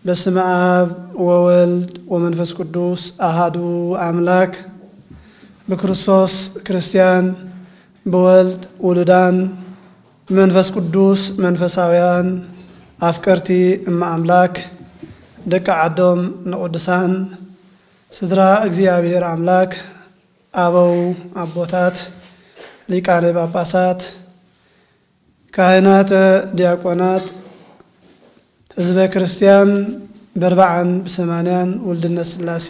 በስመ አብ ወወልድ ወመንፈስ ቅዱስ አሃዱ አምላክ። ብክርስቶስ ክርስቲያን፣ ብወልድ ውሉዳን፣ ብመንፈስ ቅዱስ መንፈሳውያን፣ ኣፍቀርቲ እመ ኣምላክ፣ ደቂ ዓዶም ንቅዱሳን፣ ስድራ እግዚኣብሔር ኣምላክ፣ ኣበው ኣቦታት፣ ሊቃነ ጳጳሳት፣ ካህናት፣ ዲያቆናት፣ ህዝበ ክርስቲያን በርባዓን ብሰማንያን ውልድነት ስላሴ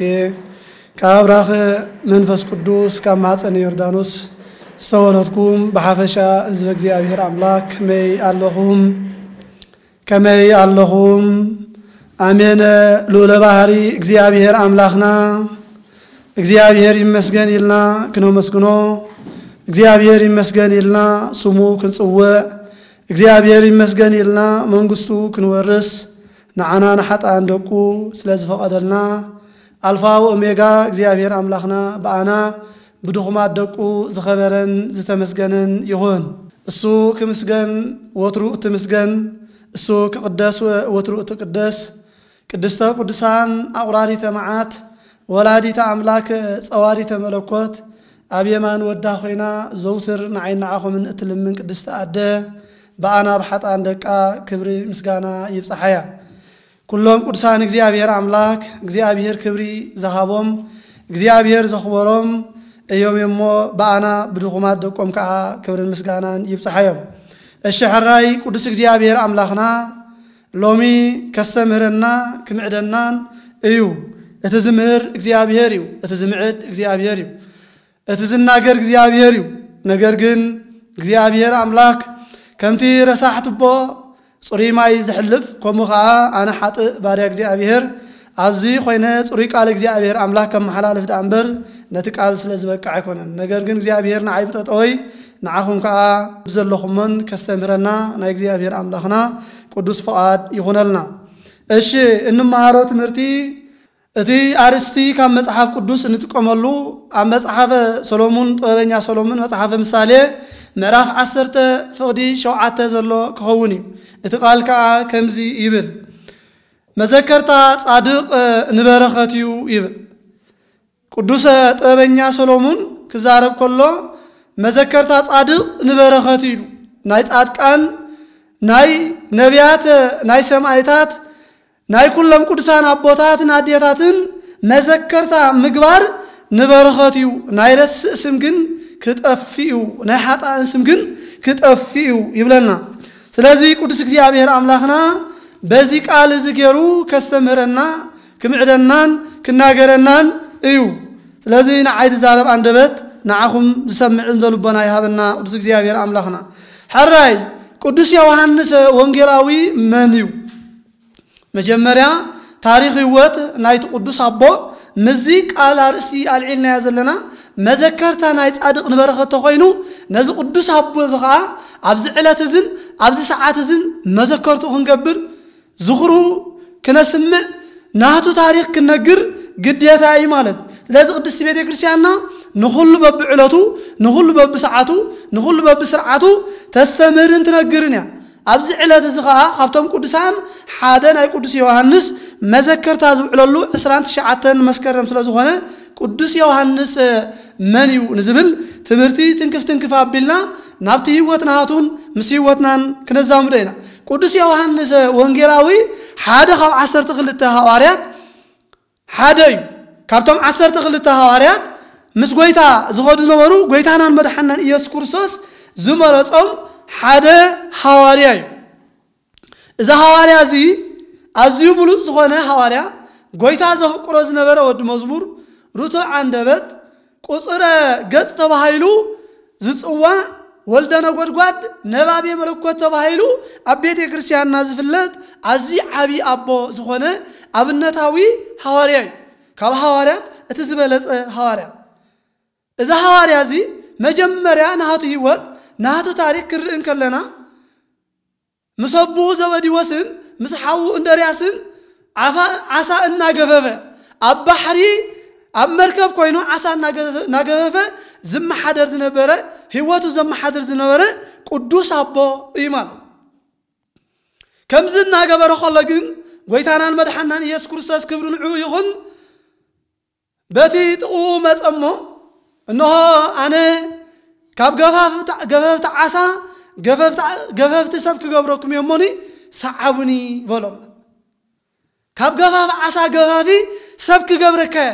ካብ ኣብራኽ መንፈስ ቅዱስ ካብ ማሕፀን ዮርዳኖስ ዝተወለድኩም ብሓፈሻ ህዝበ እግዚኣብሔር ኣምላክ ከመይ ኣለኹም? ከመይ ኣለኹም? ኣሜን። ልዑለ ባህሪ እግዚኣብሔር ኣምላኽና እግዚኣብሔር ይመስገን ኢልና ክነመስግኖ፣ እግዚኣብሔር ይመስገን ኢልና ስሙ ክንጽውዕ፣ እግዚኣብሔር ይመስገን ኢልና መንግስቱ ክንወርስ፣ ንዓና ንሓጥኣን ደቁ ስለ ዝፈቐደልና፣ ኣልፋ ወኦሜጋ እግዚኣብሔር ኣምላኽና ብኣና ብድኹማት ደቁ ዝኸበረን ዝተመስገነን ይኹን። እሱ ክምስገን ወትሩ እትምስገን፣ እሱ ክቕደስ ወትሩ እትቅደስ፣ ቅድስተ ቅዱሳን ኣቑራሪተ መዓት፣ ወላዲተ ኣምላክ ጸዋሪተ መለኮት፣ ኣብ የማን ወዳ ኮይና ዘውትር ንዓይን ንዓኹምን እትልምን ቅድስቲ ኣደ፣ ብኣና ብሓጥኣን ደቃ ክብሪ ምስጋና ይብጽሓያ። ኩሎም ቅዱሳን እግዚኣብሔር ኣምላክ እግዚኣብሔር ክብሪ ዝሃቦም እግዚኣብሔር ዘኽበሮም እዮም እሞ ብኣና ብድኹማት ደቆም ከዓ ክብርን ምስጋናን ይብጽሓዮም። እሺ ሕራይ ቅዱስ እግዚኣብሔር ኣምላኽና ሎሚ ከስተምህረና ክምዕደናን እዩ። እቲ ዝምህር እግዚኣብሔር እዩ፣ እቲ ዝምዕድ እግዚኣብሔር እዩ፣ እቲ ዝናገር እግዚኣብሔር እዩ። ነገር ግን እግዚኣብሔር ኣምላክ ከምቲ ረሳሕ ቱቦ ጽሩይ ማይ ዝሕልፍ፣ ከምኡ ኸዓ ኣነ ሓጥእ ባርያ እግዚኣብሔር ኣብዚ ኮይነ ጽሩይ ቃል እግዚኣብሔር ኣምላክ ከመሓላልፍ ደኣ እምበር ነቲ ቃል ስለ ዝበቅዕ ኣይኮነን። ነገር ግን እግዚኣብሔር ንዓይ ብጠጠወይ ንዓኹም ከኣ ብዘለኹሞን ከስተምህረና ናይ እግዚኣብሔር ኣምላኽና ቅዱስ ፍቓድ ይኹነልና። እሺ፣ እንመሃሮ ትምህርቲ እቲ ኣርእስቲ ካብ መጽሓፍ ቅዱስ እንጥቀመሉ ኣብ መጽሓፈ ሰሎሙን፣ ጥበበኛ ሰሎሙን መጽሓፈ ምሳሌ ምዕራፍ ዓሰርተ ፍቕዲ ሸውዓተ ዘሎ ክኸውን እዩ። እቲ ቃል ከኣ ከምዚ ይብል፣ "መዘከርታ ጻድቕ ንበረኸት እዩ" ይብል። ቅዱሰ ጥበበኛ ሰሎሙን ክዛረብ ከሎ፣ "መዘከርታ ጻድቕ ንበረኸት" ኢሉ። ናይ ጻድቃን፣ ናይ ነቢያት፣ ናይ ሰማይታት፣ ናይ ኩሎም ቅዱሳን ኣቦታትን ኣዴታትን መዘከርታ ምግባር ንበረኸት እዩ። ናይ ረስእ ስም ግን ክጠፍእ እዩ፣ ናይ ሓጥኣን ስም ግን ክጠፍእ እዩ ይብለና። ስለዚ ቅዱስ እግዚኣብሔር ኣምላኽና በዚ ቃል እዚ ገይሩ ከስተምህረና፣ ክምዕደናን ክናገረናን እዩ። ስለዚ ንዓይ ዝዛረብ ኣንደበት፣ ንዓኹም ዝሰምዕን ዘልቦና ይሃበና ቅዱስ እግዚኣብሔር ኣምላኽና። ሕራይ ቅዱስ ዮሃንስ ወንጌላዊ መን እዩ? መጀመርያ ታሪኽ ህይወት ናይቲ ቅዱስ ኣቦ ምስዚ ቃል ኣርእስቲ ኣልዒልናዮ ዘለና መዘከርታ ናይ ጻድቕ ንበረኸት ተኾይኑ፣ ነዚ ቅዱስ ኣቦ እዚ ኸዓ ኣብዚ ዕለት እዝን ኣብዚ ሰዓት እዝን መዘከርቱ ክንገብር፣ ዝኽሩ ክነስምዕ፣ ናቱ ታሪኽ ክነግር ግዴታ እዩ ማለት እዩ። ስለዚ ቅድስቲ ቤተ ክርስቲያንና ንኹሉ በብዕለቱ፣ ንኹሉ በብሰዓቱ፣ ንኹሉ በብስርዓቱ ተስተምህርን ትነግርን እያ። ኣብዚ ዕለት እዚ ኸዓ ካብቶም ቅዱሳን ሓደ ናይ ቅዱስ ዮሃንስ መዘከርታ ዝውዕለሉ ዕስራን ትሽዓተን መስከረም ስለ ዝኾነ፣ ቅዱስ ዮሃንስ መን እዩ ንዝብል ትምህርቲ ትንክፍ ትንክፍ ኣቢልና ናብቲ ህይወት ናቱን ምስ ህይወትናን ክነዛምዶ ኢና። ቅዱስ ዮሃንስ ወንጌላዊ ሓደ ካብ ዓሰርተ ክልተ ሃዋርያት ሓደ እዩ። ካብቶም ዓሰርተ ክልተ ሃዋርያት ምስ ጎይታ ዝኸዱ ዝነበሩ፣ ጎይታናን መድሓናን ኢየሱስ ክርስቶስ ዝመረጾም ሓደ ሃዋርያ እዩ። እዚ ሃዋርያ እዚ ኣዝዩ ብሉጽ ዝኾነ ሃዋርያ፣ ጎይታ ዘፍቅሮ ዝነበረ ወዲ መዝሙር፣ ርቱዕ ኣንደበት፣ ቁጽረ ገጽ ተባሂሉ ዝጽዋዕ፣ ወልደ ነጎድጓድ፣ ነባቤ መለኮት ተባሂሉ ኣብ ቤተ ክርስቲያንና ዝፍለጥ ኣዝዩ ዓቢ ኣቦ ዝኾነ ኣብነታዊ ሃዋርያ እዩ። ካብ ሃዋርያት እቲ ዝበለጸ ሃዋርያ። እዚ ሃዋርያ እዚ መጀመርያ ናቱ ህይወት፣ ናቱ ታሪኽ ክንርኢ እንከለና፣ ምስ ኣቦኡ ዘበዲዎስን ምስ ሓዉ እንድርያስን ዓፋ-፣ ዓሳ እናገፈፈ፣ ኣብ ባሕሪ ኣብ መርከብ ኮይኑ ዓሳ እናገ-፣ እናገፈፈ ዝመሓደር ዝነበረ፣ ህይወቱ ዘመሓድር ዝነበረ ቅዱስ ኣቦ እዩ ማለት። ከምዚ እናገበረ ከሎ ግን ጎይታናን መድሓናን ኢየሱስ ክርስቶስ ክብሪ ንዕኡ ይኹን። በቲ ጥቕኡ መጸ እሞ፣ እንሆ ኣነ ካብ ገፋፍቲ ዓሳ ገፈፍቲ ሰብ ክገብረኩም እየ እሞኒ ሰዓቡኒ በሎም። ካብ ገፋፍ ዓሳ ገፋፊ ሰብ ክገብረካ እየ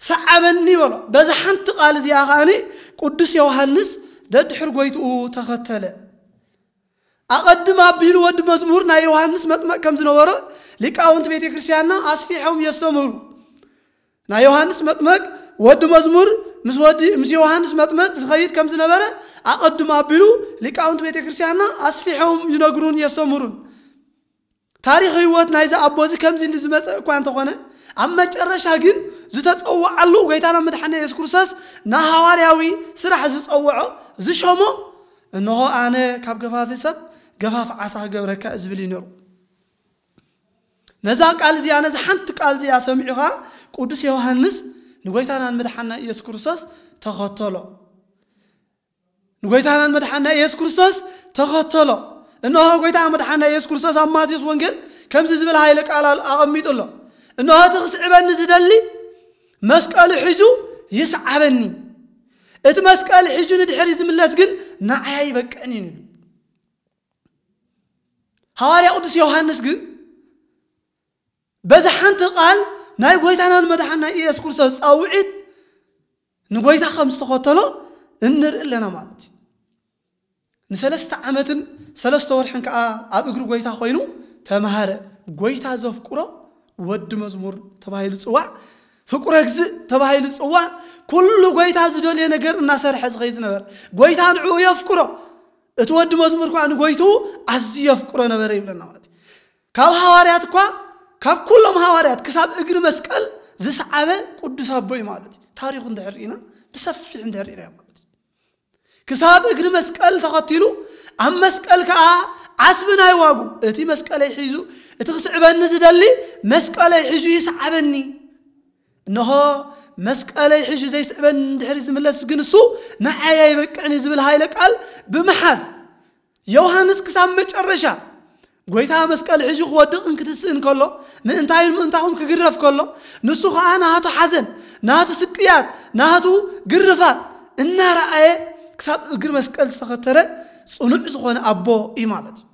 ሰዓበኒ በሎ። በዛ ሓንቲ ቃል እዚኣ ከኣኒ ቅዱስ ዮሃንስ ደድሕር ጎይትኡ ተኸተለ። ኣቐድም ኣቢሉ ወዲ መዝሙር ናይ ዮሃንስ መጥመቅ ከም ዝነበረ ሊቃውንት ቤተ ክርስቲያንና ኣስፊሖም የስተምህሩ። ናይ ዮሃንስ መጥመቅ ወዲ መዝሙር ምስ ወዲ ምስ ዮሃንስ መጥመቅ ዝኸይድ ከም ዝነበረ ኣቐድም ኣቢሉ ሊቃውንት ቤተ ክርስቲያንና ኣስፊሖም ይነግሩን የስተምህሩን። ታሪኽ ህይወት ናይዚ ኣቦ እዚ ከምዚ ኢሉ ዝመጸ እኳ እንተኾነ፣ ኣብ መጨረሻ ግን ዝተጸውዓሉ ጎይታና መድሓና የሱስ ክርስቶስ ንሃዋርያዊ ስራሕ ዝጸውዖ ዝሸሞ፣ እንሆ ኣነ ካብ ገፋፊ ሰብ ገፋፍ ዓሳ ክገብረካ ዝብል እዩ ነሩ። ነዛ ቃል እዚኣ፣ ነዛ ሓንቲ ቃል እዚኣ ሰሚዑኻ ቅዱስ ዮሃንስ ንጎይታናን መድሓና ኢየሱስ ክርስቶስ ተኸተሎ። ንጎይታናን መድሓና ኢየሱስ ክርስቶስ ተኸተሎ። እንሆ ጎይታ መድሓና ኢየሱስ ክርስቶስ ኣብ ማቴዎስ ወንጌል ከምዚ ዝብል ሃይለ ቃል ኣል-፣ ኣቐሚጡ ኣሎ። እንሆ እቲ ክስዕበኒ ዝደሊ መስቀሉ ሒዙ ይስዓበኒ። እቲ መስቀል ሒዙ ንድሕሪ ዝምለስ ግን ንዓይ ኣይበቅዕን እዩ። ሃዋርያ ቅዱስ ዮሃንስ ግን በዛ ሓንቲ ቃል ናይ ጎይታናን መድሓና ኢየሱስ ክርስቶስ ጻውዒት ንጎይታ ከም ዝተኸተሎ እንርኢ ኣለና ማለት እዩ። ንሰለስተ ዓመትን ሰለስተ ወርሕን ከኣ ኣብ እግሪ ጎይታ ኮይኑ ተማሃረ። ጎይታ ዘፍቅሮ ወዲ መዝሙር ተባሂሉ ጽዋዕ፣ ፍቁረ እግዚእ ተባሂሉ ጽዋዕ፣ ኩሉ ጎይታ ዝደልዮ ነገር እናሰርሐ ዝኸይ ዝነበር። ጎይታ ንዕኡ የፍቅሮ። እቲ ወዲ መዝሙር ከኣ ንጎይትኡ ኣዝዩ የፍቅሮ ነበረ ይብለና ማለት እዩ። ካብ ሃዋርያት እኳ፣ ካብ ኩሎም ሃዋርያት ክሳብ እግሪ መስቀል ዝሰዓበ ቅዱስ ኣቦ እዩ ማለት እዩ። ታሪኹ እንድሕር ርኢና፣ ብሰፊሕ እንድሕር ርኢና ማለት እዩ። ክሳብ እግሪ መስቀል ተኸቲሉ፣ ኣብ መስቀል ከኣ ዓስቢ ናይ ዋጉ፣ እቲ መስቀለይ ሒዙ፣ እቲ ክስዕበኒ ዝደሊ መስቀለይ ሒዙ ይስዓበኒ። እንሆ መስቀለይ ሒዙ ዘይስዕበኒ እንድሕሪ ዝምለስ ግን እሱ ንዓይ ኣይበቅዕን እዩ ዝብል ሃይለ ቃል ብምሓዝ፣ ዮሃንስ ክሳብ መጨረሻ ጎይታ መስቀል ሒዙ ክወድቕ እንክትስእ እንከሎ፣ ምእንታይን ምእንታኹም ክግረፍ ከሎ፣ ንሱ ኸኣ ናቱ ሓዘን፣ ናቱ ስቅያት፣ ናቱ ግርፋት እናረኣየ ክሳብ እግሪ መስቀል ዝተኸተረ ጽኑዕ ዝኾነ ኣቦ እዩ ማለት እዩ።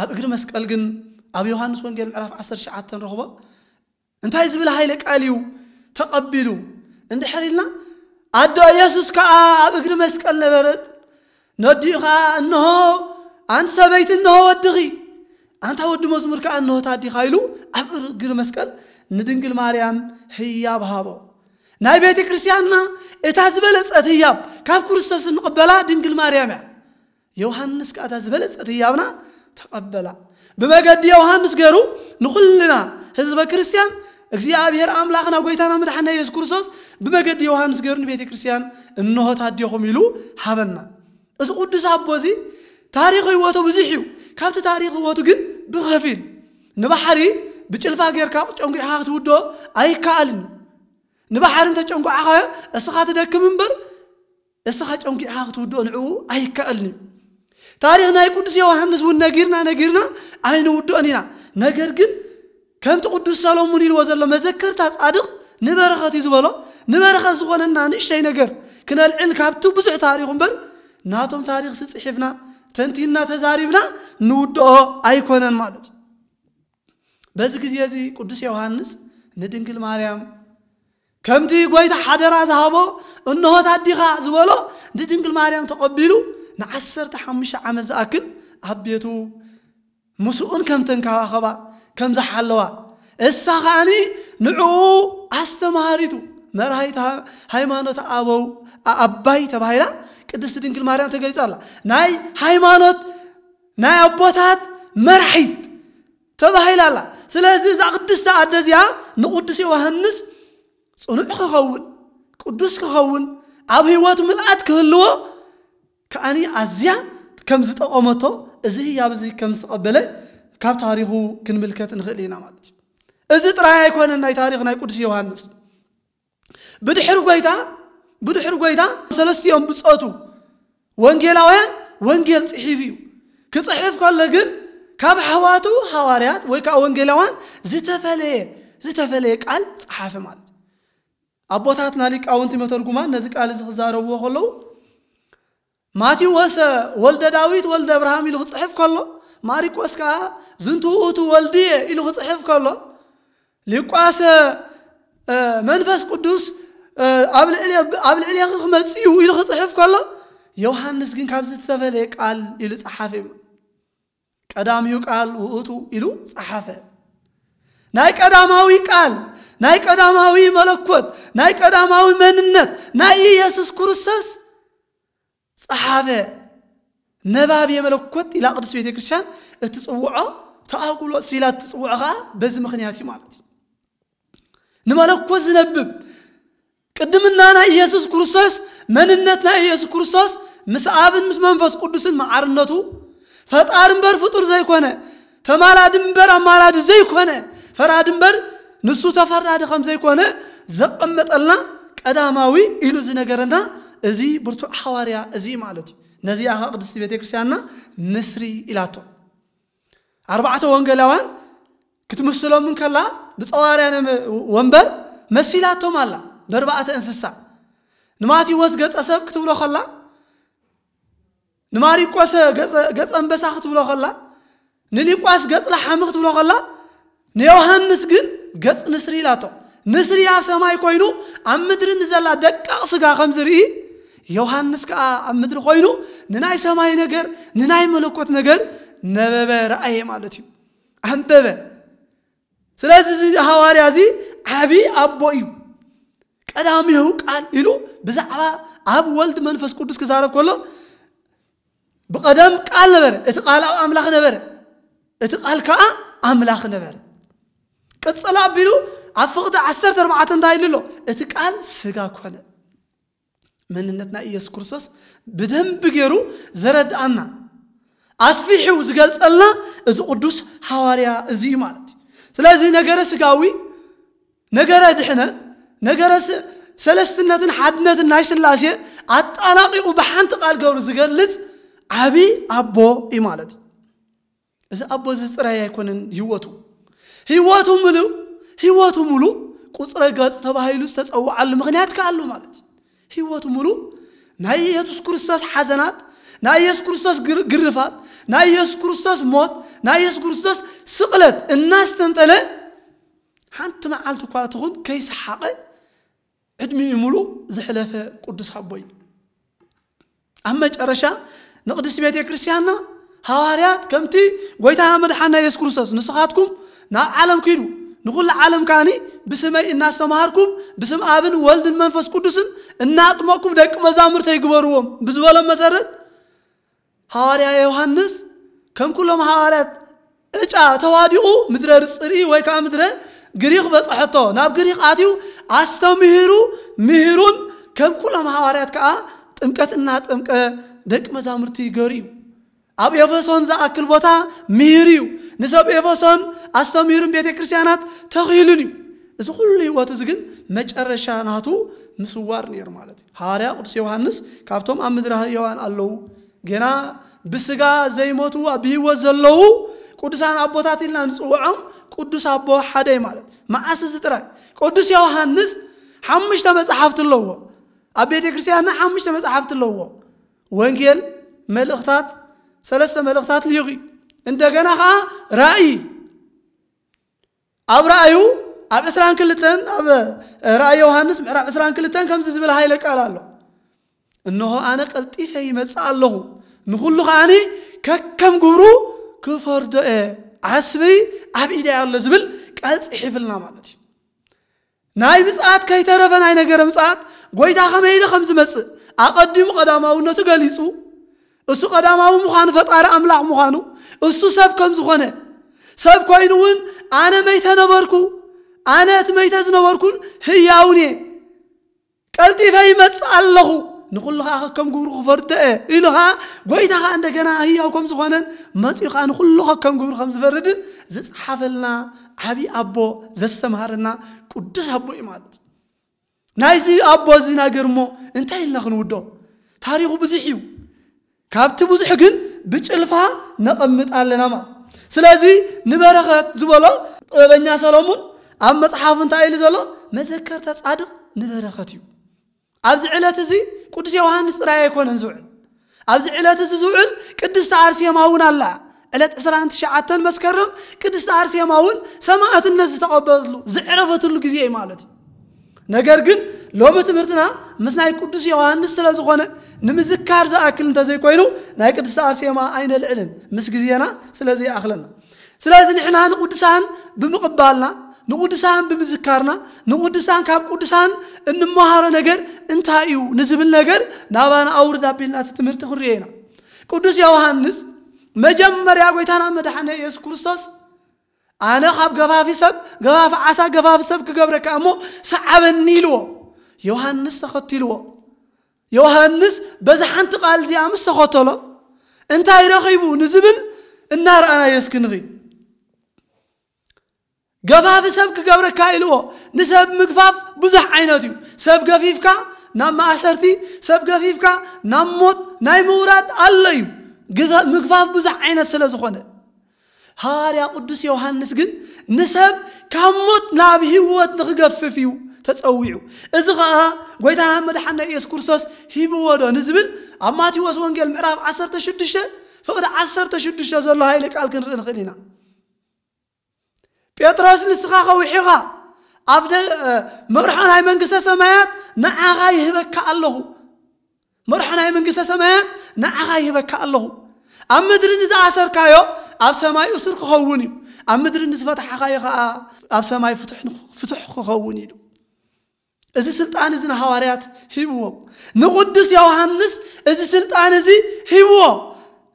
ኣብ እግሪ መስቀል ግን ኣብ ዮሃንስ ወንጌል ምዕራፍ ዓሰርተ ትሽዓተ ንረኽቦ። እንታይ ዝብል ሃይለ ቃል እዩ ተቐቢሉ እንድሕር ኢልና፣ ኣዶ ኢየሱስ ከኣ ኣብ እግሪ መስቀል ነበረት። ነዲኡ ከኣ፣ "እንሆ ኣንቲ ሰበይቲ፣ እንሆ ወድኺ፣ ኣንታ ወዲ መዝሙር ከኣ እንሆ ታዲኻ" ኢሉ ኣብ እግሪ መስቀል ንድንግል ማርያም ህያብ ሃቦ። ናይ ቤተ ክርስቲያንና እታ ዝበለጸት ህያብ ካብ ክርስቶስ እንቕበላ ድንግል ማርያም እያ። ዮሃንስ ከኣ እታ ዝበለጸት ህያብና ተቐበላ። ብመገዲ ዮሃንስ ገይሩ ንኹልና ህዝበ ክርስቲያን እግዚኣብሔር ኣምላኽና ጎይታና መድሓና ኢየሱስ ክርስቶስ ብመገዲ ዮሃንስ ገይሩ ንቤተ ክርስቲያን እንሆ ታዲኹም ኢሉ ሃበና። እዚ ቅዱስ ኣቦ እዚ ታሪኽ ህይወቱ ብዙሕ እዩ። ካብቲ ታሪኽ ህይወቱ ግን ብኸፊል፣ ንባሕሪ ብጭልፋ ጌርካ ጨንጒዕኻ ክትውድኦ ኣይከኣልን እዩ። ንባሕሪ እንተጨንጒዕኻዮ እስኻ ትደክም እምበር እስኻ ጨንጒዕኻ ክትውድኦ ንዕኡ ኣይከኣልን እዩ። ታሪኽ ናይ ቅዱስ ዮሃንስ እውን ነጊርና ነጊርና ኣይንውድኦን ኢና። ነገር ግን ከምቲ ቅዱስ ሰሎሙን ኢልዎ ዘሎ መዘከርታ ጻድቕ ንበረኸት እዩ ዝበሎ፣ ንበረኸት ዝኾነና ንእሽተይ ነገር ክነልዕል ካብቲ ብዙሕ ታሪኹ እምበር ናቶም ታሪኽሲ ጽሒፍና ተንቲንና ተዛሪብና ንውድኦ ኣይኮነን ማለት እዩ። በዚ ግዜ እዚ ቅዱስ ዮሃንስ ንድንግል ማርያም ከምቲ ጎይታ ሓደራ ዝሃቦ፣ "እንሆ ታዲኻ" ዝበሎ ንድንግል ማርያም ተቐቢሉ ንዓሰርተ ሓሙሽተ ዓመት ዝኣክል ኣብ ቤቱ ምስኡን ከም ተንከባኸባ፣ ከም ዝሓለዋ፣ እሳ ከኣኒ ንዕኡ ኣስተምሃሪቱ፣ መርሃይት ሃ-፣ ሃይማኖት ኣበው ኣ-፣ ኣባይ ተባሂላ ቅድስቲ ድንግል ማርያም ተገሊጻ ኣላ። ናይ ሃይማኖት ናይ ኣቦታት መራሒት ተባሂላ ኣላ። ስለዚ እዛ ቅድስቲ ኣደ እዚኣ ንቅዱስ ዮሃንስ ጽኑዕ ክኸውን፣ ቅዱስ ክኸውን፣ ኣብ ህይወቱ ምልኣት ክህልዎ ከኣኒ ኣዝያ ከም ዝጠቐመቶ፣ እዚ ህያብ እዚ ከም ዝተቐበለ ካብ ታሪኹ ክንምልከት ንኽእል ኢና ማለት እዩ። እዚ ጥራይ ኣይኮነን ናይ ታሪኽ ናይ ቅዱስ ዮሃንስ። ብድሕሪ ጎይታ፣ ብድሕሪ ጎይታ ሰለስቲኦም ብጾቱ ወንጌላውያን ወንጌል ጽሒፉ እዩ። ክጽሕፍ ከሎ ግን ካብ ኣሕዋቱ ሃዋርያት ወይ ከዓ ወንጌላውያን ዝተፈለየ ዝተፈለየ ቃል ጸሓፈ ማለት እዩ። ኣቦታትና ሊቃውንቲ መተርጉማን ነዚ ቃል እዚ ክዛረብዎ ከለዉ፣ ማቴዎስ ወልደ ዳዊት ወልደ ኣብርሃም ኢሉ ክጽሕፍ ከሎ፣ ማሪቆስ ከኣ ዝንቱ ውእቱ ወልድየ ኢሉ ክጽሕፍ ከሎ፣ ሉቃስ መንፈስ ቅዱስ ኣብ ልዕሌ ኣብ ልዕሌኺ ክመጽእ እዩ ኢሉ ክጽሕፍ ከሎ፣ ዮሃንስ ግን ካብዚ ዝተፈለየ ቃል ኢሉ ጸሓፈ እዩ። ቀዳሚው ቃል ውእቱ ኢሉ ጸሓፈ። ናይ ቀዳማዊ ቃል፣ ናይ ቀዳማዊ መለኮት፣ ናይ ቀዳማዊ መንነት ናይ ኢየሱስ ክርስቶስ ጸሓፈ። ነባቤ መለኮት ኢላ ቅድስት ቤተ ክርስቲያን እትጽውዖ፣ ተኣጉሎ ሲላ እትጽውዖ ኸኣ በዚ ምኽንያት እዩ ማለት እዩ። ንመለኮት ዝነብብ ቅድምና ናይ ኢየሱስ ክርስቶስ መንነት ናይ ኢየሱስ ክርስቶስ ምስ ኣብን ምስ መንፈስ ቅዱስን መዓርነቱ፣ ፈጣሪ እምበር ፍጡር ዘይኮነ፣ ተማላዲ እምበር ኣማላዲ ዘይኮነ፣ ፈራዲ እምበር ንሱ ተፈራዲ ከም ዘይኮነ ዘቐመጠልና ቀዳማዊ ኢሉ ዝነገረና እዚ ብርቱዕ ሃዋርያ እዚ ማለት እዩ። ነዚኣ ኸኣ ቅድስቲ ቤተ ክርስቲያንና ንስሪ ኢላቶ። ኣርባዕተ ወንጌላውያን ክትምስሎም እንከላ ብጸዋርያ ወንበር መሲላቶም ኣላ። በርባዕተ እንስሳ ንማቴዎስ ገጸ ሰብ ክትብሎ ከላ፣ ንማሪቆስ ገጸ ገጸ ኣንበሳ ክትብሎ ከላ፣ ንሊቋስ ገጽ ላሓሚ ክትብሎ ከላ፣ ንዮሃንስ ግን ገጽ ንስሪ ኢላቶ። ንስሪ ኣብ ሰማይ ኮይኑ ኣብ ምድሪ ንዘላ ደቃቕ ስጋ ከም ዝርኢ፣ ዮሃንስ ከኣ ኣብ ምድሪ ኮይኑ ንናይ ሰማይ ነገር፣ ንናይ መለኮት ነገር ነበበ፣ ረኣየ ማለት እዩ። ኣንበበ። ስለዚ እዚ ሃዋርያ እዚ ዓቢ ኣቦ እዩ። ቀዳሚሁ ቃል ኢሉ ብዛዕባ ኣብ ወልድ መንፈስ ቅዱስ ክዛረብ ከሎ፣ ብቐደም ቃል ነበረ፣ እቲ ቃል ኣብ ኣምላኽ ነበረ፣ እቲ ቃል ከኣ ኣምላኽ ነበረ። ቅጽል ኣቢሉ ኣብ ፍቕዲ ዓሰርተ ኣርባዕተ እንታይ ኢሉ ኣሎ? እቲ ቃል ስጋ ኮነ። መንነት ናይ ኢየሱስ ክርስቶስ ብደንቢ ገይሩ ዘረድኣና፣ ኣስፊሑ ዝገልጸልና እዚ ቅዱስ ሃዋርያ እዚ እዩ ማለት እዩ። ስለዚ ነገረ ስጋዊ፣ ነገረ ድሕነት፣ ነገረ ስ-፣ ሰለስትነትን ሓድነትን ናይ ስላሴ ኣጣናቂቑ ብሓንቲ ቃል ገብሩ ዝገልጽ ዓቢ ኣቦ እዩ ማለት እዩ። እዚ ኣቦ እዚ ጥራይ ኣይኮነን ህይወቱ። ህይወቱ ምሉእ፣ ህይወቱ ምሉእ ቁጽረ ገጽ ተባሂሉ ዝተጸውዓሉ ምኽንያት ከኣ ኣሎ ማለት እዩ። ህይወቱ ምሉእ ናይ ኢየሱስ ክርስቶስ ሓዘናት፣ ናይ ኢየሱስ ክርስቶስ ግር-፣ ግርፋት፣ ናይ ኢየሱስ ክርስቶስ ሞት፣ ናይ ኢየሱስ ክርስቶስ ስቕለት እናስተንተነ ሓንቲ መዓልቲ እኳ ትኹን ከይሰሓቐ ዕድሚኡ ምሉእ ዘሕለፈ ቅዱስ ኣቦ እዩ። ኣብ መጨረሻ ንቅድስቲ ቤተ ክርስቲያንና ሃዋርያት ከምቲ ጎይታ መድሓና ኢየሱስ ክርስቶስ፣ "ንስኻትኩም ናብ ዓለም ኪዱ፣ ንኹሉ ዓለም ከኣኒ ብስመይ እናስተምሃርኩም፣ ብስም ኣብን ወልድን መንፈስ ቅዱስን እናጥመቅኩም ደቂ መዛሙርተይ ግበርዎም" ብዝበሎም መሰረት፣ ሃዋርያ ዮሃንስ ከም ኩሎም ሃዋርያት ዕጫ ተዋዲቑ ምድረ ጽርኢ ወይ ከዓ ምድረ ግሪኽ በጽሐቶ። ናብ ግሪኽ ኣትዩ ኣስተምሂሩ፣ ምሂሩን ከም ኩሎም ሃዋርያት ከዓ ጥምቀት እናጠምቀ ደቂ መዛሙርቲ ገሩ እዩ። ኣብ ኤፌሶን ዝኣክል ቦታ ምሂሩ እዩ። ንሰብ ኤፌሶን ኣስተምሂሩን ቤተ ክርስቲያናት ተኺሉን እዩ። እዚ ኩሉ ህይወቱ እዚ ግን መጨረሻ ናቱ ምስዋር ነይሩ ማለት እዩ። ሃዋርያ ቅዱስ ዮሃንስ ካብቶም ኣብ ምድሪ ህያዋን ኣለዉ፣ ገና ብስጋ ዘይሞቱ ኣብ ህይወት ዘለዉ ቅዱሳን ኣቦታት ኢልና ንጽውዖም፣ ቅዱስ ኣቦ ሓደ እዩ ማለት። መዓስ እዚ ጥራይ? ቅዱስ ዮሃንስ ሓሙሽተ መጽሓፍቲ ኣለዎ። ኣብ ቤተ ክርስቲያንና ሓሙሽተ መጽሓፍቲ ኣለዎ። ወንጌል፣ መልእኽታት፣ ሰለስተ መልእኽታት ልዩኺ፣ እንደገና ኸዓ ራእይ። ኣብ ራእዩ ኣብ ዕስራን ክልተን፣ ኣብ ራእይ ዮሃንስ ምዕራፍ ዕስራን ክልተን ከምዚ ዝብል ሃይለ ቃል ኣሎ። "እንሆ ኣነ ቀልጢፈ ይመጽእ ኣለኹ፣ ንኹሉ ከኣኒ ከከም ግብሩ ክፈርዶ እየ፣ ዓስቢ ኣብ ኢደይ ኣሎ" ዝብል ቃል ጽሒፍልና ማለት እዩ። ናይ ምጽኣት ከይተረፈ ናይ ነገረ ምጽኣት ጎይታ ከመይ ኢሉ ከም ዝመጽእ ኣቐዲሙ ቀዳማውነቱ ገሊጹ። እሱ ቀዳማዊ ምዃኑ፣ ፈጣሪ ኣምላኽ ምዃኑ፣ እሱ ሰብ ከም ዝኾነ፣ ሰብ ኮይኑ እውን "ኣነ መይተ ነበርኩ፣ ኣነ እቲ መይተ ዝነበርኩን ህያውን እየ፣ ቀልጢፈ ይመጽእ ኣለኹ፣ ንኹሉ ኸዓ ከከም ግብሩ ክፈርዶ እየ" ኢሉ ኸዓ፣ ጎይታ ኸዓ እንደገና ህያው ከም ዝኾነን መጺኡ ኸዓ ንኹሉ ከከም ግብሩ ከም ዝፈርድን ዝጸሓፈልና ዓብዪ ኣቦ፣ ዘስተምሃረና ቅዱስ ኣቦ እዩ ማለት እዩ። ናይዚ ኣቦ እዚ ነገር እሞ እንታይ ኢልና ክንውዶ? ታሪኹ ብዙሕ እዩ። ካብቲ ብዙሕ ግን ብጭልፋ ነቐምጥ ኣለና ማለት። ስለዚ ንበረኸት ዝበሎ ጥበበኛ ሰሎሙን ኣብ መጽሓፉ እንታይ ኢሉ ዘሎ? መዘከርታ ጻድቕ ንበረኸት እዩ። ኣብዚ ዕለት እዚ ቅዱስ ዮሃንስ ጥራይ ኣይኮነን ዝውዕል። ኣብዚ ዕለት እዚ ዝውዕል ቅድስቲ ኣርሴማ እውን ኣላ። ዕለት ዕስራን ትሽዓተን መስከረም ቅድስቲ ኣርሴማ እውን ሰማዕትነት ዝተቐበለትሉ፣ ዝዕረፈትሉ ግዜ እዩ ማለት እዩ። ነገር ግን ሎሚ ትምህርትና ምስ ናይ ቅዱስ ዮሃንስ ስለ ዝኾነ፣ ንምዝካር ዝኣክል እንተዘይኮይኑ፣ ናይ ቅድስቲ ኣርሴማ ኣይነልዕልን፣ ምስ ግዜና ስለ ዘይኣኽለና። ስለዚ ንሕና ንቅዱሳን ብምቕባልና፣ ንቅዱሳን ብምዝካርና፣ ንቅዱሳን፣ ካብ ቅዱሳን እንመሃሮ ነገር እንታይ እዩ ንዝብል ነገር ናባና ኣውርድ ኣቢልና እቲ ትምህርቲ ክንሪኦ ኢና። ቅዱስ ዮሃንስ መጀመርያ ጎይታና መድሓነ ኢየሱስ ክርስቶስ፣ ኣነ ካብ ገፋፊ ሰብ፣ ገፋፊ ዓሳ፣ ገፋፊ ሰብ ክገብረካ እሞ ሰዓበኒ ኢልዎ። ዮሃንስ ተኸትልዎ። ዮሃንስ በዛ ሓንቲ ቃል እዚኣ ምስ ተኸተሎ እንታይ ረኺቡ ንዝብል እናረኣናዮ እስኪ ንኺ። ገፋፊ ሰብ ክገብረካ ኢልዎ። ንሰብ ምግፋፍ ብዙሕ ዓይነት እዩ። ሰብ ገፊፍካ ናብ ማእሰርቲ፣ ሰብ ገፊፍካ ናብ ሞት ናይ ምውራድ ኣሎ እዩ። ግፋ-፣ ምግፋፍ ብዙሕ ዓይነት ስለ ዝኾነ፣ ሃዋርያ ቅዱስ ዮሃንስ ግን ንሰብ ካብ ሞት ናብ ህይወት ንኽገፍፍ እዩ ተጸዊዑ። እዚ ኸኣ ጎይታና መድሓና ኢየሱስ ክርስቶስ ሂብዎ ዶ ንዝብል፣ ኣብ ማቴዎስ ወንጌል ምዕራፍ ዓሰርተ ሽዱሽተ ፍቕዲ ዓሰርተ ሽዱሽተ ዘሎ ሃይለ ቃል ክንርኢ ንኽእል ኢና። ጴጥሮስ፣ ንስኻ ከውሒኻ ኣብ ደ-፣ መርሖ ናይ መንግስተ ሰማያት ንዓኻ ይህበካ ኣለኹ። መርሖ ናይ መንግስተ ሰማያት ንዓኻ ይህበካ ኣለኹ። ኣብ ምድሪ ንዝኣሰርካዮ ኣብ ሰማይ እሱር ክኸውን እዩ፣ ኣብ ምድሪ ንዝፈታሕኻዮ ኸኣ ኣብ ሰማይ ፍቱሕ፣ ፍቱሕ ክኸውን ኢሉ። እዚ ስልጣን እዚ ንሃዋርያት ሂብዎም። ንቅዱስ ዮሃንስ እዚ ስልጣን እዚ ሂብዎ።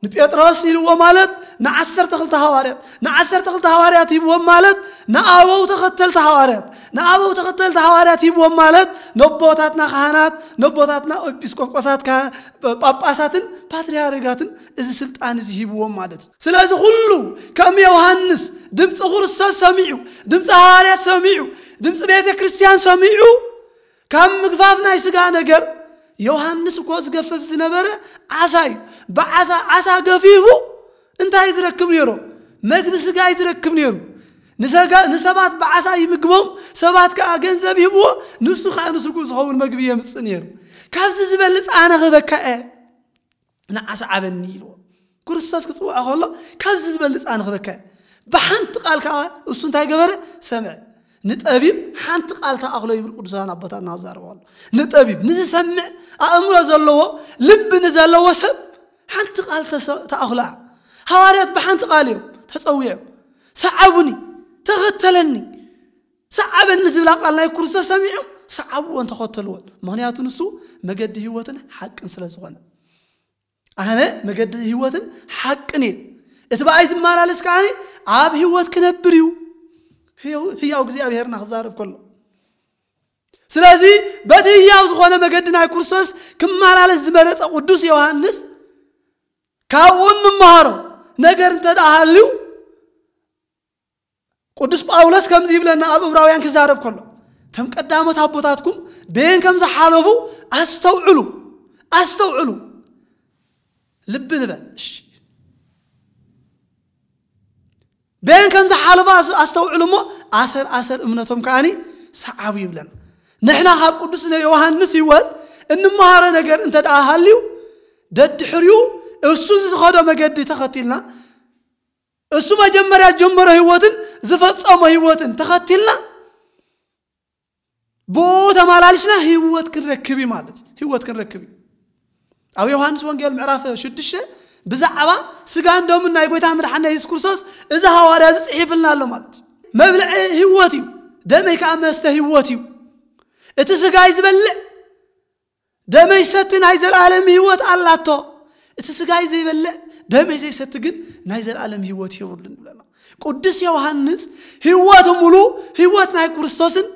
ንጴጥሮስ ኢልዎ ማለት ንዓሰርተ ክልተ ሃዋርያት፣ ንዓሰርተ ክልተ ሃዋርያት ሂብዎም ማለት ንኣበው ተኸተልቲ ሃዋርያት፣ ንኣበው ተኸተልቲ ሃዋርያት ሂብዎም ማለት ነቦታትና ካህናት፣ ነቦታትና ኤጲስቆጶሳት፣ ካ-፣ ጳጳሳትን ፓትርያርጋትን እዚ ስልጣን እዚ ሂብዎም ማለት እዩ። ስለዚ ኩሉ ከም ዮሃንስ ድምፂ ክርስቶስ ሰሚዑ፣ ድምፂ ሃዋርያት ሰሚዑ፣ ድምፂ ቤተ ክርስቲያን ሰሚዑ፣ ካብ ምግፋፍ ናይ ስጋ ነገር ዮሃንስ እኮ ዝገፍፍ ዝነበረ ዓሳ እዩ። ብዓሳ፣ ዓሳ ገፊፉ እንታይ ዝረክብ ነይሩ? መግቢ ስጋ እዩ ዝረክብ ነይሩ። ንሰጋ-፣ ንሰባት ብዓሳ ይምግቦም፣ ሰባት ከኣ ገንዘብ ይህብዎ፣ ንሱ ከኣ ንስጉ ዝኸውን መግቢ የምጽእ ነይሩ። ካብዚ ዝበልጽ ኣነ ክበካ እየ፣ ንዓሳ ዓበኒ ኢልዎ። ክርስቶስ ክጽውዖ ከሎ ካብዚ ዝበልጽ ኣነ ክበካ እየ። ብሓንቲ ቃል ከኣ እሱ እንታይ ገበረ? ሰምዐ። ንጠቢብ ሓንቲ ቃል ተኣኽሎ ይብል ቅዱሳን ኣቦታትና ክዛረቡ ኣሎ። ንጠቢብ፣ ንዝሰምዕ ኣእምሮ ዘለዎ፣ ልቢ ንዘለዎ ሰብ ሓንቲ ቃል ተሰ-፣ ተኣኽሎ እያ። ሃዋርያት ብሓንቲ ቃል እዮም ተጸዊዖም። ሰዓቡኒ፣ ተኸተለኒ። ሰዓበኒ ዝብላ ቃል ናይ ክርስቶስ ሰሚዖም ሰዓብዎን ተኸተልዎን። ምኽንያቱ ንሱ መገዲ ህይወትን ሓቅን ስለ ዝኾነ። ኣነ መገዲ ህይወትን ሓቅን እየ። እቲ ብኣይ ዝመላለስ ከኣ ኣብ ህይወት ክነብር እዩ። ህያው፣ ህያው እግዚኣብሄርና ክዛረብ ከሎ። ስለዚ በቲ ህያው ዝኾነ መገዲ ናይ ክርስቶስ ክመላለስ ዝመረጸ ቅዱስ ዮሃንስ ካብኡ እንመሃሮ ነገር እንተ ደኣ ሃልዩ፣ ቅዱስ ጳውሎስ ከምዚ ይብለና ኣብ ዕብራውያን ክዛረብ ከሎ፣ "እቶም ቀዳሞት ኣቦታትኩም በየን ከም ዝሓለፉ ኣስተውዕሉ፣ ኣስተውዕሉ።" ልቢ ንበል። እሺ። በየን ከም ዝሓለፉ ኣስ-፣ ኣስተውዕሉ እሞ ኣሰር ኣሰር እምነቶም ከኣኒ ሰዓቡ ይብለና። ንሕና ካብ ቅዱስ ዮሃንስ ህይወት እንመሃሮ ነገር እንተ ደኣ ሃልዩ፣ ደድሕሪኡ እሱ ዝኸዶ መገዲ ተኸቲልና፣ እሱ መጀመርያ ዝጀመሮ ህይወትን ዝፈጸሞ ህይወትን ተኸቲልና፣ ብኡ ተመላሊስና ህይወት ክንረክብ እዩ ማለት እዩ። ህይወት ክንረክብ እዩ። ኣብ ዮሃንስ ወንጌል ምዕራፍ ሽዱሽተ ብዛዕባ ስጋን ደሙን ናይ ጎይታ መድሓኒና የሱስ ክርስቶስ እዚ ሃዋርያ እዚ ጽሒፍልና ኣሎ ማለት እዩ። መብልዒ ህይወት እዩ፣ ደመይ ከኣ መስተ ህይወት እዩ። እቲ ስጋይ ዝበልዕ ደመይ ዝሰቲ ናይ ዘላለም ህይወት ኣላቶ። እቲ ስጋይ ዘይበልዕ ደመይ ዘይሰቲ ግን ናይ ዘላለም ህይወት የብሉን ይብለና። ቅዱስ ዮሃንስ ህይወቱ ሙሉ ህይወት ናይ ክርስቶስን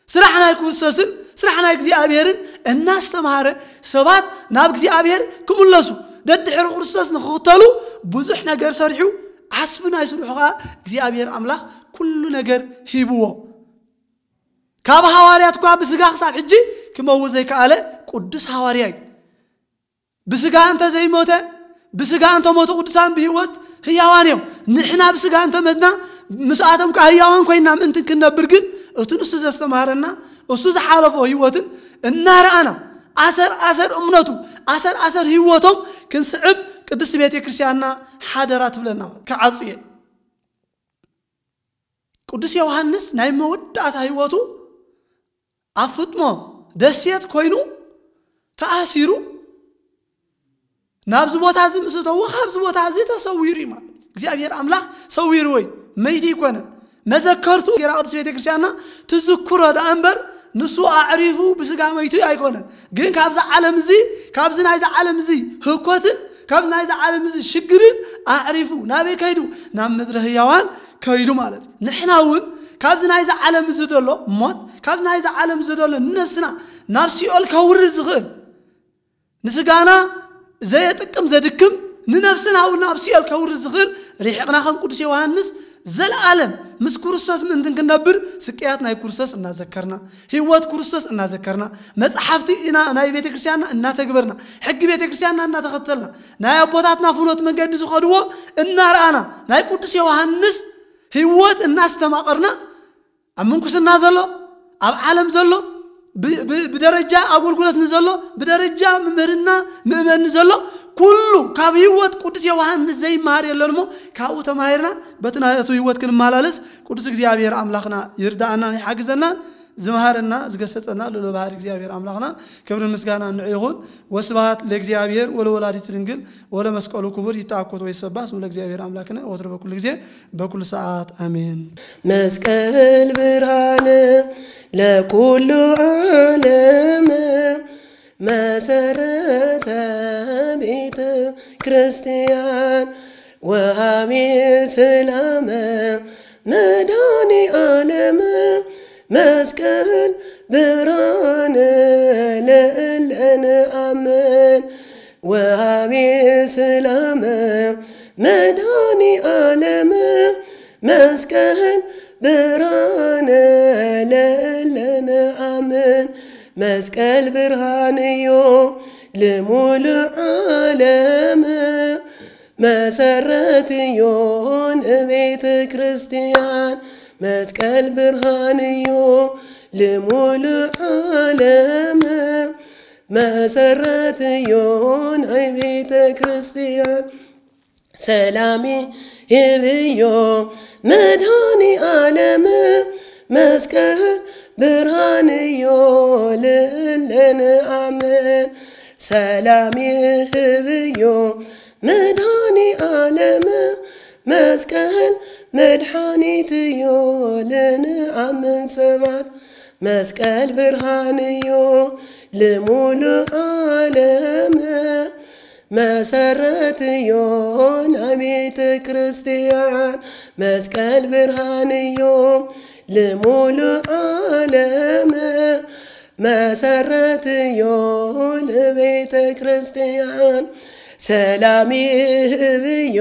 ስራሕ ናይ ክርስቶስን ስራሕ ናይ እግዚኣብሔርን እናስተምሃረ ሰባት ናብ እግዚኣብሔር ክምለሱ ደድሕሪ ክርስቶስ ንክኽተሉ ብዙሕ ነገር ሰሪሑ፣ ዓስቢ ናይ ስርሑ ኸዓ እግዚኣብሔር ኣምላኽ ኩሉ ነገር ሂብዎ። ካብ ሃዋርያት እኳ ብስጋ ክሳብ ሕጂ ክመውት ዘይከኣለ ቅዱስ ሃዋርያ እዩ። ብስጋ እንተ ዘይሞተ፣ ብስጋ እንተሞቱ ቅዱሳን ብህይወት ህያዋን እዮም። ንሕና ብስጋ እንተመትና ምስኣቶም ከዓ ህያዋን ኮይና ምእንትን ክንነብር ግን እቲ ንሱ ዘስተምሃረና እሱ ዝሓለፎ ህይወትን እናረኣና ኣሰር ኣሰር እምነቱ ኣሰር ኣሰር ህይወቶም ክንስዕብ ቅድስት ቤተ ክርስቲያንና ሓደራ ትብለና። ክዓጹ እየ። ቅዱስ ዮሃንስ ናይ መወዳእታ ህይወቱ ኣብ ፍጥሞ ደሴት ኮይኑ ተኣሲሩ ናብዚ ቦታ እዚ ምስ እተዎ ካብዚ ቦታ እዚ ተሰዊሩ እዩ ማለት እዩ። እግዚኣብሔር ኣምላኽ ሰዊርዎ እዩ፣ መይቲ ኣይኮነን። መዘከርቱ ጌራ ቅድስት ቤተ ክርስቲያንና ትዝክሮ ደኣ እምበር ንሱ ኣዕሪፉ ብስጋ መይቱ ኣይኮነን። ግን ካብዚ ዓለም እዚ ካብዚ ናይዚ ዓለም እዚ ህኮትን ካብዚ ናይዚ ዓለም እዚ ሽግርን ኣዕሪፉ ናበይ ከይዱ? ናብ ምድረ ህያዋን ከይዱ ማለት እዩ። ንሕና እውን ካብዚ ናይዚ ዓለም እዚ ዘሎ ሞት ካብዚ ናይዚ ዓለም እዚ ዘሎ ንነፍስና ናብ ሲኦል ከውርድ ዝኽእል ንስጋና ዘየጥቅም ዘድክም ንነፍስና እውን ናብ ሲኦል ከውርድ ዝኽእል ርሒቕና ከም ቅዱስ ዮሃንስ ዘለዓለም ምስ ክርስቶስ ምእንትን ክንነብር ስቅያት ናይ ክርስቶስ እናዘከርና ህይወት ክርስቶስ እናዘከርና መጽሓፍቲ ኢና ናይ ቤተ ክርስቲያንና እናተግበርና ሕጊ ቤተ ክርስቲያንና እናተኸተልና ናይ ኣቦታትና ፍኖት መንገዲ ዝኸድዎ እናረኣና ናይ ቅዱስ ዮሃንስ ህይወት እናስተማቐርና ኣብ ምንኩስና ዘሎ ኣብ ዓለም ዘሎ ብደረጃ ኣገልግሎት ንዘሎ ብደረጃ ምምህርና ምእመን ንዘሎ ኩሉ ካብ ህይወት ቅዱስ ዮሃንስ ዘይመሃር የለን እሞ ካብኡ ተማሂርና በቲ ናቱ ህይወት ክንመላለስ ቅዱስ እግዚኣብሔር ኣምላኽና ይርዳእናን ይሓግዘናን ዝመሃረና ዝገሰጸና ልዑል ባህሪ እግዚኣብሔር ኣምላኽና ክብርን ምስጋና ንዑ ይኹን። ወስብሐት ለእግዚኣብሔር ወለወላዲቱ ድንግል ወለመስቀሉ ክቡር። ይትአኮት ወይትሰባህ ስሙ ለእግዚኣብሔር ኣምላክነ ወትሮ በኩሉ ጊዜ በኩሉ ሰዓት ኣሜን። መስቀል ብርሃን ለኩሉ ዓለም መሰረተ ቤተ ክርስቲያን ወሃቢ ሰላም መድኃኔ ዓለም መስቀል ብርሃን ለእለ ንኣምን ወሃቢ ሰላም መድኃኔ ዓለም መስቀል ብርሃን ለእለ ንኣምን መስቀል ብርሃን እዩ ልሙሉ ዓለም መሰረት እዩ ንቤተ ክርስቲያን መስቀል ብርሃን እዩ ልሙሉ ዓለም መሰረት እዩ ናይ ቤተ ክርስቲያን ሰላም ይህብ እዩ መድኃኔ ዓለም መስቀል ብርሃን እዩ ለእለ ንኣምን ሰላም ይህብ እዩ መድኃኔ ዓለም መስቀል መድኃኒት እዩ ለንኣምን ሰባት መስቀል ብርሃን እዩ ልሙሉ ዓለም መሰረት እዩ ናይ ቤተ ክርስቲያን መስቀል ብርሃን እዩ ልሙሉ ዓለም መሰረት እዩ ንቤተ ክርስቲያን ሰላም ይህብ እዩ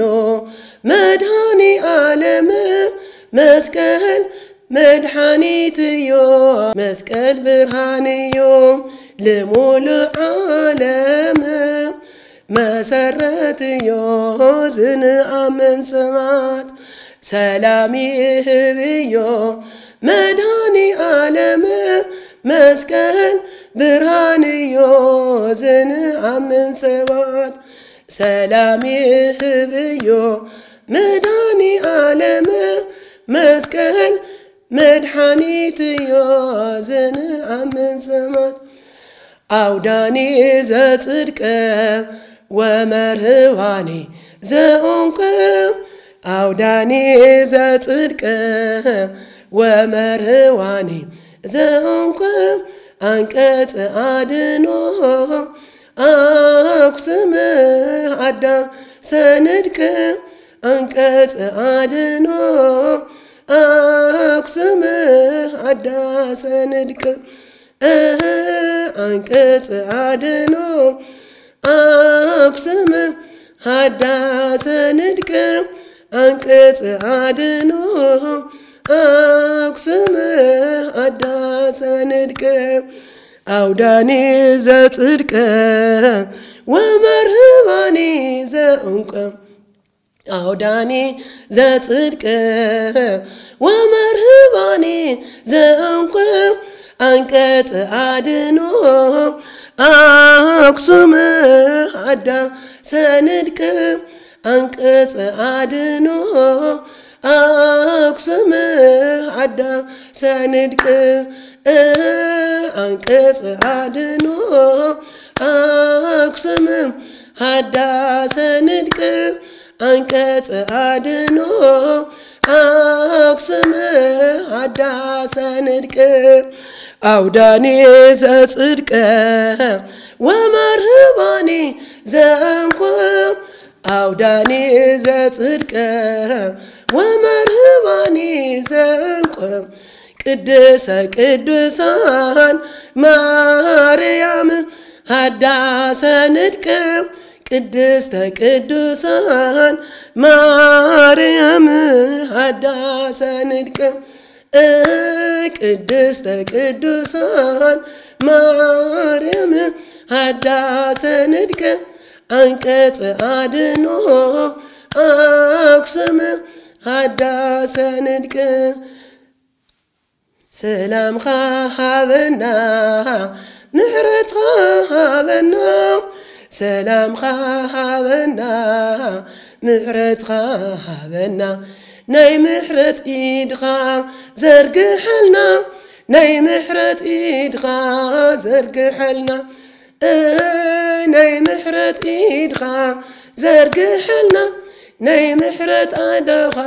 መድኃኔ ዓለም መስቀል መድኃኒት እዩ መስቀል ብርሃን እዩ ልሙሉ ዓለም መሰረት እዩ ዝንኣምን ሰባት ሰላም ይህብ እዩ መድኃኔ ዓለም መስቀል ብርሃን እዩ ዝንኣምን ሰባት ሰላም ይህብ እዩ መድኃኔ ዓለም መስቀል መድኃኒት እዩ ዝንኣምን ሰባት ኣውዳኒ ዘጽድቅ ወመርህባኒ ዘእንቅ ኣውዳኒ ዘጽድቅ ወመርህባኒ ዘእንቅ ኣንቀጽ ኣድኖ ኣኩስም ኣዳ ሰንድቅ ኣንቀጽ ኣድኖ ኣኩስም ኣዳ ሰንድቅ ኣንቀጽ ኣድኖ ኣኩስም ኣዳ ሰንድቅ ኣንቀጽ ኣድኖ ኣኩስም ኣዳ ሰንድቅ ኣውዳኒ ዘጽድቅ ወመርህባኒ ዘእንቆ ኣውዳኒ ዘጽድቅ ወመርህባኒ ዘእንቆ ኣንቀጽ ኣድኖ ኣክሱም ሃዳ ሰንድቅ ኣንቀጽ ኣድኖ ኣክሱም ሃዳ ሰንድቅ ኣንቀጽ ኣድኖ ኣክሱም ሃዳ ሰንድቅ ኣንቀጽ ኣድኖ ኣክሱም ሃዳ ሰንድቅ ኣውዳኒ ዘጽድቅ ወመርህባኒ ዘእንቆ ኣውዳኒ ዘጽድቅ ወመርህባኒ ዘእንቆ ቅድስተ ቅዱሳን ማርያም ሃዳ ሰንድቅ ቅድስተ ቅዱሳን ማርያም ሃዳ ሰንድቅ ቅድስተ ቅዱሳን ማርያም ሃዳ ሰንድቅ ኣንቀጽ ኣድኖ ኣክሱም ሃዳ ሰንድቅ ሰላምኻ ሃበና ምሕረትኻ ሃበና ሰላምኻ ሃበና ምሕረትኻ ሃበና ናይ ምሕረት ኢድኻ ዘርግሐልና ናይ ምሕረት ኢድኻ ዘርግሐልና ናይ ምሕረት ኢድኻ ዘርግሐልና ናይ ምሕረት ኣደኻ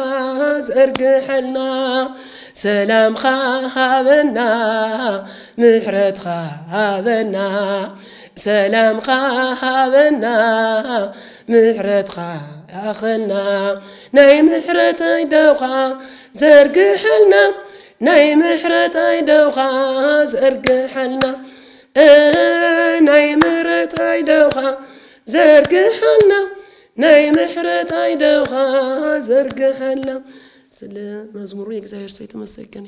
ዘርግሐልና ሰላምኻ ሃበና ምሕረትኻ ሃበና ሰላምኻ ሃበና ምሕረትኻ ኣኸልና ናይ ምሕረት ኣደኻ ዘርግሐልና ናይ ምሕረት ኣደኻ ዘርግሐልና ናይ ምሕረት ኣደኻ ዘርግሐልና ናይ ምሕረት ኣደኻ ዘርግሐልና ስለ መዝሙሩ የእግዚኣብሔር ሰይተመሰገን